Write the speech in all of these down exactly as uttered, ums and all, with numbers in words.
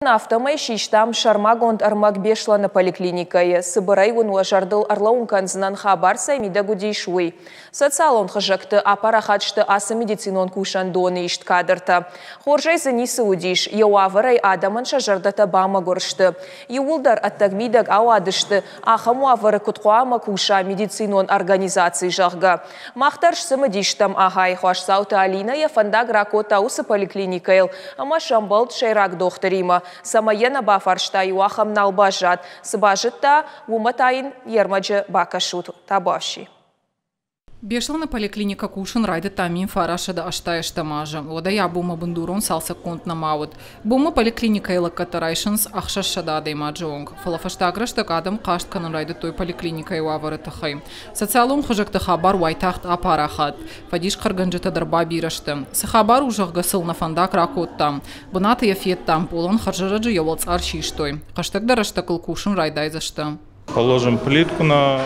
Афтӕмӕй систам сӕрмагонд ӕрмӕг Беслӕны поликлиникӕйы. Цыбырӕй уын уӕ зӕрдыл ӕрлӕууын кӕндзынӕн, хабар цӕй мидӕг уыдис, уый. Социалон хызӕгты апарахат сты ацы медицинон кусӕндоны ист кадртӕ. Хорзӕй дзы ницы уыдис, йӕ уавӕрӕй адӕмӕн сӕ зӕрдӕтӕ бамӕгуыр сты. Иууылдӕр ӕддӕг-мидӕг ауадысты, ахӕм уавӕры куыд хъуамӕ куса медицинон организаци, зӕгъгӕ. Мах дӕр сцымыдис стӕм ахай. Хуасдзауты Алинӕ йӕ фӕндаг ракодта уыцы поликлиникӕйыл ӕмӕ сӕмбӕлд сӕйраг дохтыримӕ. Цӕмӕй йӕ нӕ бафарста, иу ахӕм нал баззад. Цы базыдта, уымӕ та йын йе рмӕджы бакӕсут. Табуафси. Беслӕны поликлиникӕ кусын райдыдта мин фарастсӕдӕ ӕстай ӕстӕм азы. Уӕдӕй абонмӕ бындурон цалцӕггонд нӕма уыд. Бонмӕ поликлиникӕйы лӕггӕдтӕ райсынц ӕхсӕзсӕдӕ адӕймаджы онг. Фӕлӕ фӕстаг рӕстӕг адӕм хъаст кӕнын райдыдтой поликлиникӕйы уавӕры тыххӕй. Социалон хызӕгты хабар уайтагъд апарахат. Фӕдисхъӕргӕнджытӕ дӕр бабирӕ сты. Цы хабар у, зӕгъгӕ, сыл нӕ фӕндаг ракодтам. Бынаты йӕ федтам, пъолӕн хӕрзӕрӕджы йӕ уӕлцъар систой. Хӕстӕгдӕр рӕстӕг ыл кусын райдайдзысты. Положим плитку на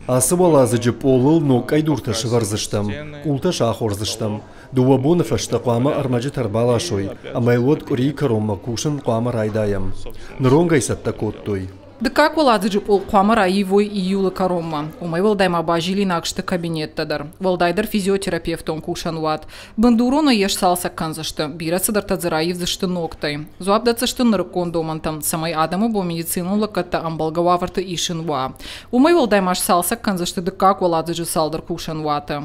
Ацы уӕладзыджы пъолыл ног къӕйдуртӕ сӕвӕрдзыстӕм, къултӕ сахордзыстӕм. Дыууӕ боны фӕстӕ хъуамӕ ӕрмӕджытӕ ӕрбаласой, ӕмӕ йыл уӕд къуырийы кӕронмӕ кусын хъуамӕ райдайӕм. Ныронг ӕй цӕттӕ кодтой. Дыккаг уӕладзыджы пъол хъуамӕ раивой июлы кӕронмӕ. Уымӕй уӕлдай ма базилинаг сты кабинеттӕ дӕр. Уӕлдайдӕр физиотерапевтон кусӕн уат. Бындуронӕй йӕ сцалцӕг кӕндзысты, бирӕ цыдӕртӕ дзы раивдзысты ногтӕй. Дзуапп дӕтдзысты нырыккон домӕнтӕм, цӕмӕй адӕмы бон медицинон лӕггӕдтӕ ӕмбӕлгӕ уавӕрты исын уа. Уымӕй уӕлдай ма сцалцӕг кӕндзысты дыккаг уӕладзыджы цалдӕр кусӕн уаты.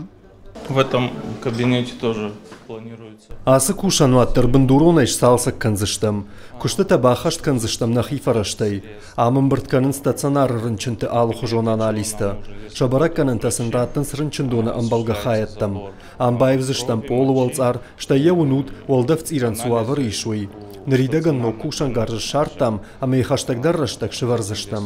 В этом кабинете тоже планируется. Ацы кусӕнуат дӕр бындуронӕй сцалцӕг кӕндзыстӕм. Куыстытӕ баххӕст кӕндзыстӕм нӕхи фӕрӕзтӕй. Ам ӕмбырд кӕнынц стационары рынчынты алыхуызон анализтӕ. Сӕ бӕрӕггӕнӕнтӕ сын раттынц рынчындоны ӕмбӕлгӕ хайӕдтӕм. Ам баивдзыстӕм пъолы уӕлцъар, стӕй йӕ уынут, уӕлдӕфцъирӕн цы уавӕры ис, уый. Ныридӕгӕн ног кусӕнгарз ссардтам ӕмӕ йӕ хӕстӕгдӕр рӕстӕг сӕвӕрдзыстӕм.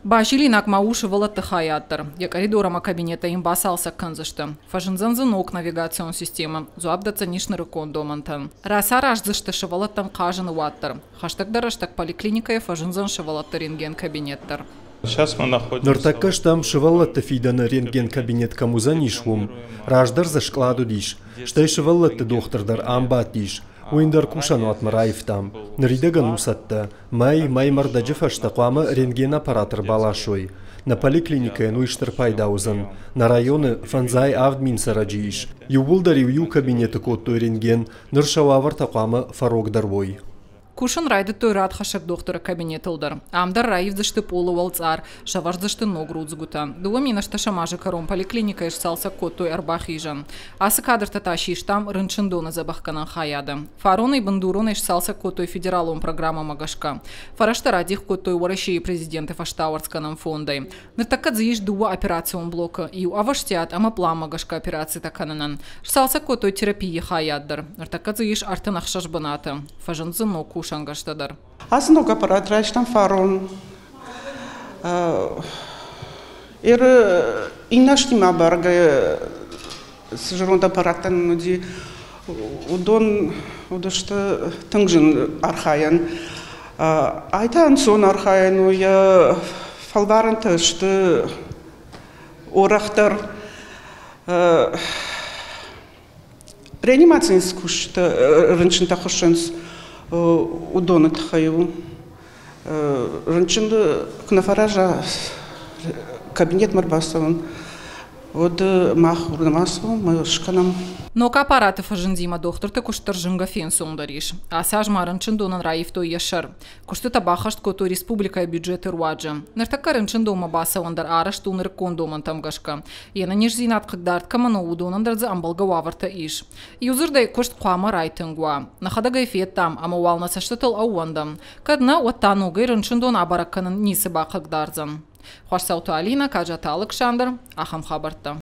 Базилинаг ма у сывӕллӕтты хайад дӕр. Йӕ къӕридор ӕмӕ кабинеттӕ йын бацалцӕг кӕндзысты. Фӕзындзӕн дзы ног навигацион системӕ, дзуапп дӕтдзӕнис нырыккон домӕнтӕн. Рацараздзысты сывӕллӕттӕн хъазыны уат дӕр. Хӕстӕгдӕр рӕстӕг поликлиникӕйы фӕзындзӕн сывӕллӕтты рентген-кабинет дӕр. Сейчас мы находимся. Ныртӕккӕ стӕм, сывӕллӕтты фидӕны рентген-кабинет кӕм уыдзӕнис, уым. Раздӕр дзы скълад уыдис, стӕй сывӕллӕтты дохтыр дӕр ам бадтис. Уый ӕндӕр кусӕнуатмӕ раивтам. Ныридӕгӕн у цӕттӕ. Мӕй, мӕймӕ рдӕджы фӕстӕ хъуамӕ рентген-аппарат ӕрбаласой. Нӕ поликлиникӕйӕн уый стыр пайда уыдзӕн. Нӕ районы фӕндзай авд мин цӕрӕджы ис. Иууылдӕр-иу иу кабинеты кодтой рентген, ныр сӕ уавӕртӕ хъуамӕ фӕрогдӕр уой. Кусын райдыдтой радхӕссӕг дохтыры кабинетыл дӕр. Ам дӕр раивдзысты пъолы уӕлцъар, сӕвӕрдзысты ног рудзгуытӕ. Дыууӕ мин ӕстдӕсӕм азы кӕрон поликлиникӕйы сцалцӕг кодтой ӕрбахизӕн. Ацы кадртӕ та систам рынчындоны дзӕбӕхгӕнӕн хайады. Фаронӕй бындуронӕй сцалцӕг кодтой федералон программӕмӕ гӕсгӕ. Фӕрӕзтӕ радих кодтой Уӕрӕсейы президенты фӕстауӕрцгӕнӕн фондӕй. Ныртӕккӕ дзы ис дыууӕ операцион блокы, иу ӕвӕстиат ӕмӕ пъланмӕ гӕсгӕ операцитӕ кӕнынӕн. Сцалцӕг кодтой терапийы хайад дӕр. Ныртӕккӕ дзы ис ӕртын ӕхсӕз бынаты. Фӕзынд дзы ног кусӕнгӕрзтӕ дӕр. Ацы ног аппарат райстам фарон. Ир иннӕ азтимӕ абаргӕйӕ цы зӕронд аппараттӕ нын уыди, уыдон уыдысты тынг зын архайӕн. Ай та ӕнцон архайӕн у, йӕ фӕлварӕнтӕ сты уӕрӕхдӕр. Реанимацийы цы кусджытӕ рынчынтӕ хуыссынц, уыдоны тыххӕй у. Рынчын куы нӕ фӕраза кабинетмӕ ӕрбацӕуын, уӕд мах уырдӕм ацӕуӕм, мы скӕнӕм. Ног аппараты фӕзындимӕ дохтырты куыст дӕр зынгӕ фенцондӕр ис. Ацы аз ма рынчындонӕн раивтой йӕ сӕр. Куыстытӕ баххӕст кодтой республикӕйы бюджеты руаджы. Ныртӕккӕ рынчындонмӕ бацӕуӕн дӕр арӕзт у нырыккон домӕнтӕм гӕсгӕ. Йе нӕниздзинад хъыгдард кӕмӕн у, уыдонӕн дӕр дзы ӕмбӕлгӕ уавӕртӕ ис. Иудзырдӕй, куыст хъуамӕ райтынг уа. Нӕхӕдӕг ӕй федтам ӕмӕ уал нӕ цӕстытыл ӕууӕндӕм. Кӕд нӕ, уӕд та ногӕй рынчындон абӕрӕг кӕнын ницы бахъыгдардзӕн. Хуасдзауты Алинӕ, Каджаты Алыксандр, ахӕм хабӕрттӕ.